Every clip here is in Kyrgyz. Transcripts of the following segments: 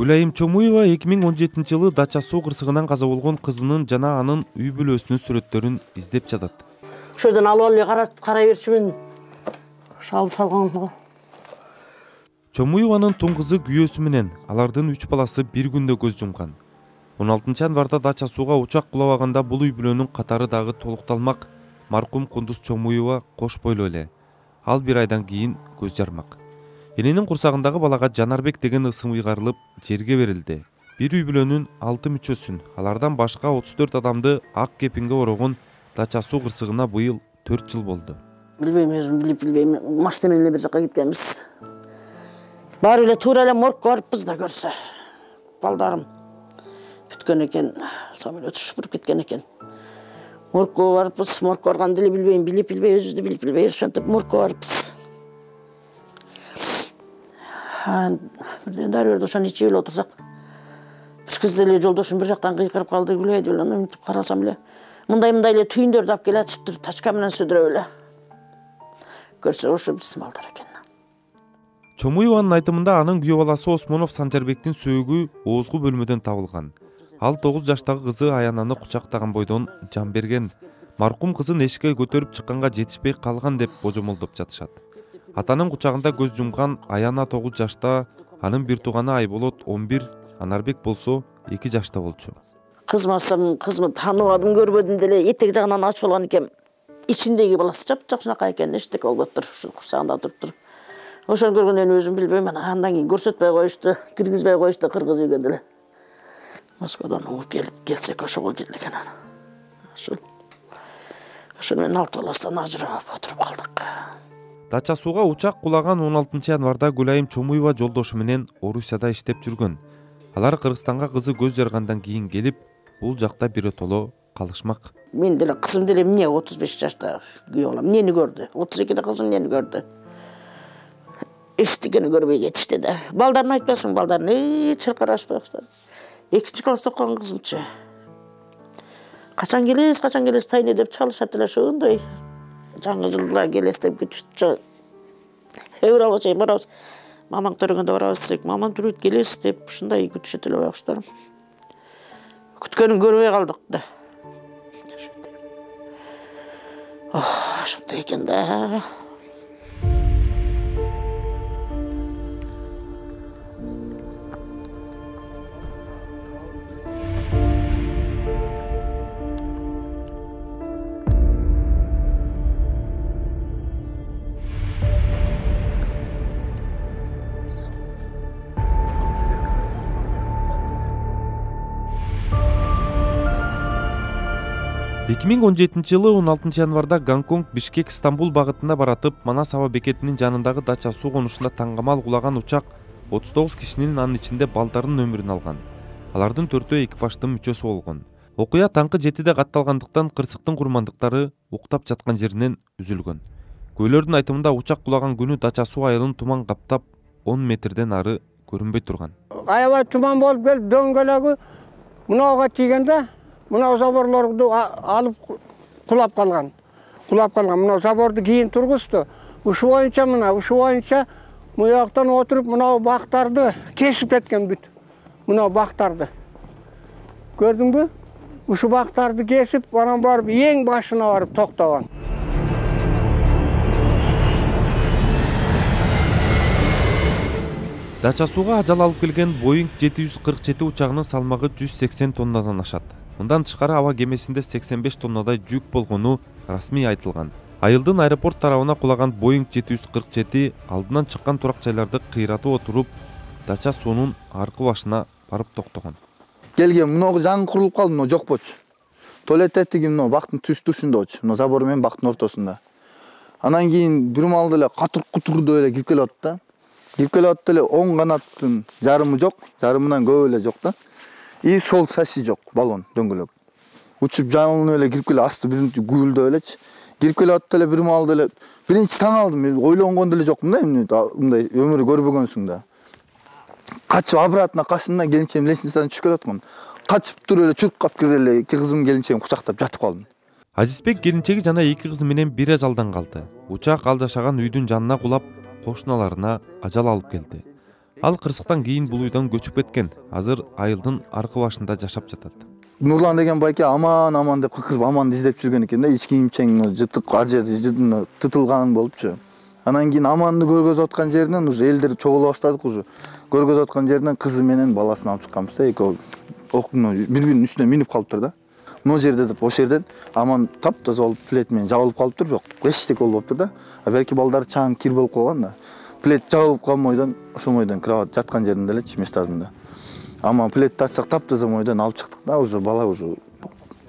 Гүлайым Чомуева 2017-жылы Дача суу кырсыгынан каза болгон кызынын жана анын үй бүлөсүнүн сүрөттөрүн издеп жатат. Ошол жерден алып карай берчүмүн. Шал салган. Чомуеванын тун кызы күйөөсү менен алардын 3 баласы бир күндө көз жумган. 16 январда Дача сууга учак кулабаганда бул үй бүлөнүн катары дагы толукталмак. Маркум Кундуз Чомуева кош бойлуу эле. Ал бир айдан кийин көз жармак. Эненин курсагындагы балага Жанарбек деген ысым ыйгарылып жерге берилди. Бир үй бүлөнүн 6 мүчөсүн, алардан башка 34 адамды ак кепинге орогон Дача суу кырсыгына быйыл 4 жыл болду. Билбейм, өзүм билбейм. Машина менен бир жака кеткенбиз. Баары эле туура эле моргко барыппыз да көрсө. Балдарым бүткөн экен, самолет учуп кеткен экен. Моргко барыппыз, моргко барганды эле билбейм, билбей, өзүбүздү билбей, ошентип моргко барыппыз. Бирден дары берди, ошону ичип эле отурсак, бир кезде эле жолдошум бир жактан кыйкырып калды, Гүлай деп эле, мынтип карасам эле, мындай эле түйүндөрдү алып келатыптыр, тачка менен сөдүрөп эле. Көрсө ошо биздин балдар экен. Чомуеванын айтымында анын күйөө баласы Осмонов Санжарбектин сөөгү оозгу бөлмөдөн табылган. Ал 9 жаштагы кызы Аянаны кучактаган бойдон жан берген. Маркум кызын эшикке көтөрүп чыкканга жетишпей калган деп божомолдоп жатышат. Атанын кучагында көз жумган Аяна 9 жашта, анын бир тууганы Айболот 11, Анарбек болсо 2 жашта болчу. Кызмасам, кызымы тааныбадым, көрбөдүм деле, этек жагынан ачып алган экен. Ичиндеги баласы жапжакшынакай экен, эчтеке болуптур, ушу курсагында туруптур. Ошону көргөндөн өзүм билбейм, андан кийин көрсөтпөй коюшту, киргизбей коюшту кыргыз үйгө деле. Москвадан угуп келсек ошого келдик анан. Ошону менен 6 баластан ажырап отуруп калдык. Дача сууга учак кулаган 16 январда Гүлайым Чомуева жолдошу менен Орусияда иштеп жүргөн. Алар Кыргызстанга кызы көз жаргандан кийин келип, бул жакта биротоло калышмак. Мен деле кызым деле эмне 35 жашта күйөө балам эмнени көрдү? 32-де кызым эмнени көрдү? Эчтекени көрбөй кетишти да. Балдарын айтпасың, балдарын чыркырашпай баштады. 2-класста окуган кызымчы. Качан келесиз тайне деп чалышат эле ошондой. Жаңы жылда келесиз деп күтүшчү. Февралга чейин барабыз. Мамаң төрөгөндө барабыз десек, мамам түрөт келесиз деп ушундай күтүшөт эле байкуштар. Күткөнүн көрбөй калдык да. Ошондой экен да. жылы 16 январда Гонконг Бишкек Стамбул багытында баратып, Манас аба бекетинин жанындагы Дача суу конушунда таңгамал кулаган учак 39 кишинин анын ичинде балдарынын өмүрүн алган. Алардын 4-өө экипаждын мүчөсү болгон. Окуя таңкы 7-де катталгандыктан кырсыктын курмандыктары уктап жаткан жеринен үзүлгөн. Көйлөрдүн айтымында учак кулаган күнү Дача суу айылын туман каптап 10 метрден ары көрүнбөй турган. Аябай туман болуп келип дөңгөлөгү мынауга тийгенде мынау заборлорду алып кулап калган. Мынау заборду кийин тургузду. Ушу боюнча муяктан отуруп мынау бактарды кесип кеткен бүт. Мынау бактарды. Көрдүңбү? Ушу бактарды кесип, анан барып эң башына барып токтогон. Дача сууга ажал алып келген Boeing 747 учагынын салмагы 180 тоннадан ашат. Мындан тышкары аба кемесинде 85 тоннадай жүк болгону расмий айтылган. Айылдын аэропорт тарабына кулаган Boeing 747 алдынан чыккан турак жайларды кыйратып отуруп, Дача суунун аркы башына барып токтогон. Келген мынау жаңы курулуп калды, мынау жок болчу. Туалет этиги мынау бактын түштүшүндө, мынау забор менен бактын ортосунда. Анан кийин бир маалда эле катыр-кутурду эле кирип келип атты да. Кирип келип атты эле оң канаттын жарымы жок, жарымынан көп эле жок да. И сол шасси жок, баллон дөңгөлөк. Учуп жанылып эле кирип келип асты бизин гүлдөп элечи. Кирип келип атты эле бир маалда эле биринчи таң алдым, ойлонгон деле жокмун да, мындай өмүрү көрбөгөнсүң да. Качып обратно кашында келинчем лестницадан түшүп келаткан. Качып туруп эле чуркап кирип эле эки кызым келинчегим кучактап жатып калдым. Азизбек келинчеги жана эки кызы менен бир ажалдан калды. Учак ал жашаган үйдүн жанына кулап, кошуналарына ажал алып келди. Ал кырсыктан кийин бул үйдөн көчүп кеткен. Азыр айылдын аркы башында жашап жатат. Нурлан деген байке аман деп кыкырып аманды издеп жүргөн экен да. Ички кийимчең жытык ажы тытылган болупчу. Анан кийин аманды көргөзүп аткан жеринен уже элдер чогула баштадык уже. Көргөзүп аткан жеринен кызы менен баласын алып чыкканбыз да. Экөө бири-биринин үстүнө минип калыптыр да. Мына жерде деп ошол жерден аман таптаза болуп плет менен жабылып калыптыр, бирок эчтеке болуптур да. Белки балдар чаң кир болуп калган да. Плет жабылып калган бойдон ошол бойдон кровать жаткан жеринде элечи местасында. Ама плетти ачсак таптаза бойдон алып чыктык да, уже бала уже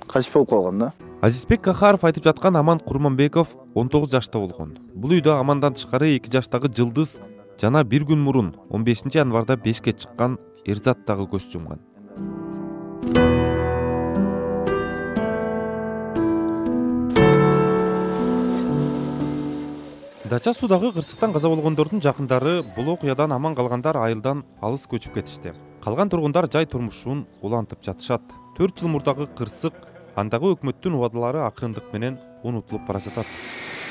качып болуп калган да. Азизбек Кахаров айтып жаткан Аман Курманбеков 19 жашта болгон. Бул үйдө Амандан тышкары 2 жаштагы Жылдыз жана бир күн мурун 15 январда бешке чыккан Эрзат дагы көз жумган. Дача суудагы кырсыктан каза болгондордун жакындары бул окуядан аман калгандар айылдан алыс көчүп кетишти. Калган тургундар жай турмушун улантып жатышат. 4 жыл мурдагы кырсык андагы өкмөттүн убадалары акырындык менен унутулуп бара жатат.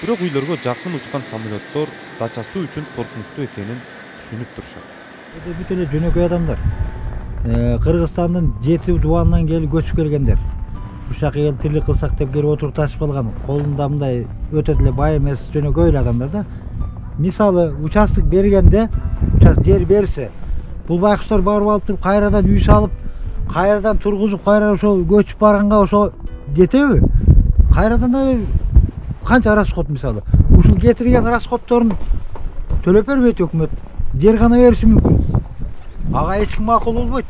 Бирок үйлөргө жакын учкан самолеттор дача суу үчүн коркунучтуу экенин түшүнүп турушат. Бүт эле жөнөкөй адамдар. Кыргызстандын 7 дубанынан келип көчүп келгендер. Ушакка келип тирлик кылсак деп келип отурукташып калган. Колунда мындай өтө эле бай эмес жөнөкөй эле адамдар да. Мисалы участок бергенде, жер берсе, бул байкуштар барып алып туруп кайрадан үй салып, кайрадан тургузуп, кайра ошо көчүп барганга ошо жетеби? Кайрадан да канча расход мисалы. Ушул кетирген расходторун төлөп бербейт өкмөт. Жер гана бериши мүмкүн. Ага эч ким макул болбойт.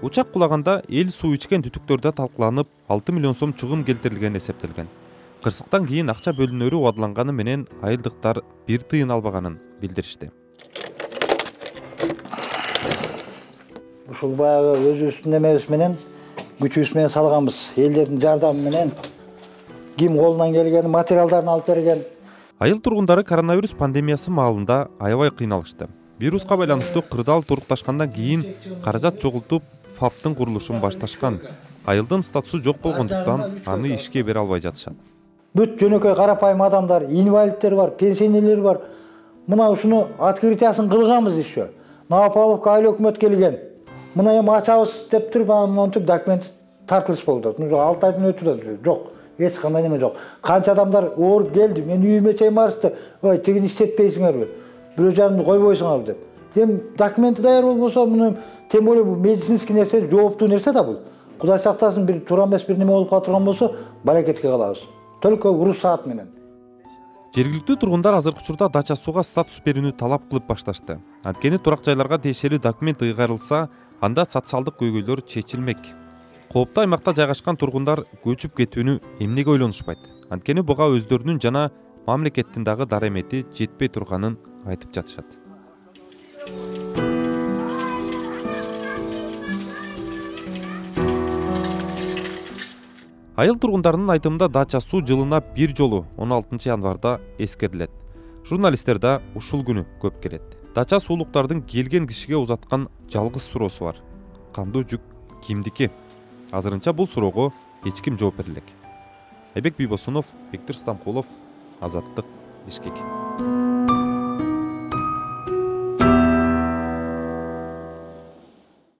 Учак кулаганда эл суу ичкен түтүктөрдө талкууланып 6 миллион сом чыгым келтирилгени эсептелген. Кырсыктан кийин акча бөлүнөрү убадаланганы менен айылдыктар бир тыйын албаганын билдиришти. Ушул баягы өзүбүздүн эмебиз менен күчүбүз менен салганбыз. Элдердин жардамы менен ким колунан келген материалдарын алып берген. Айыл тургундары коронавирус пандемиясы маалында аябай кыйналышты. Вируска байланыштуу кырдаал турукташкандан кийин каражат чогултуп ФАПтын курулушун башташкан. Айылдын статусу жок болгондуктан аны ишке бере албай жатышат. Бүт жөнөкөй карапайым адамдар, инвалидтер бар, пенсионерлер бар. Мына ушуну открытиясын кылганбыз еще. Наапаловка айыл өкмөт келген. Мына эми ачабыз деп туруп, монтип документ тартылыш болду. 6 айдан өтүп жок. Эч кандай неме жок. Канча адамдар ооруп келди. Мен үйүмө чейин барышты. Ой, тигини иштетпейсиңерби? Бирөө жарымды койбойсуңар деп. Эми документи даяр болбосо, муну тем более бул медицинский нерсе, жооптуу нерсе да бул. Кудай сактасын, бир туура эмес бир неме болуп калган болсо, баракетке калабыз. Только уруксаат менен. Жергиликтүү тургундар азыркы учурда дача сууга статус берүүнү талап кылып башташты. Анткени турак жайларга тиешелүү документ ыйгарылса, анда социалдык көйгөйлөр чечилмек. Кооптуу аймакта жайгашкан тургундар көчүп кетүүнү эмнеге ойлонушпайт? Анткени буга өздөрүнүн жана мамлекеттин дагы дарамети жетпей турганын айтып жатышат. Айыл тургундарынын айтымында дача суу жылына бир жолу 16 январда эскерилет. Журналисттер да ушул күнү көп келет. Дача суулуктардын келген кишиге узаткан жалгыз суроосу бар. Кандуу жүк кимдики? Азырынча бул суроого эч ким жооп бере элек. Айбек Бийбосунов, Бектур Стамкулов, Азаттык, Бишкек.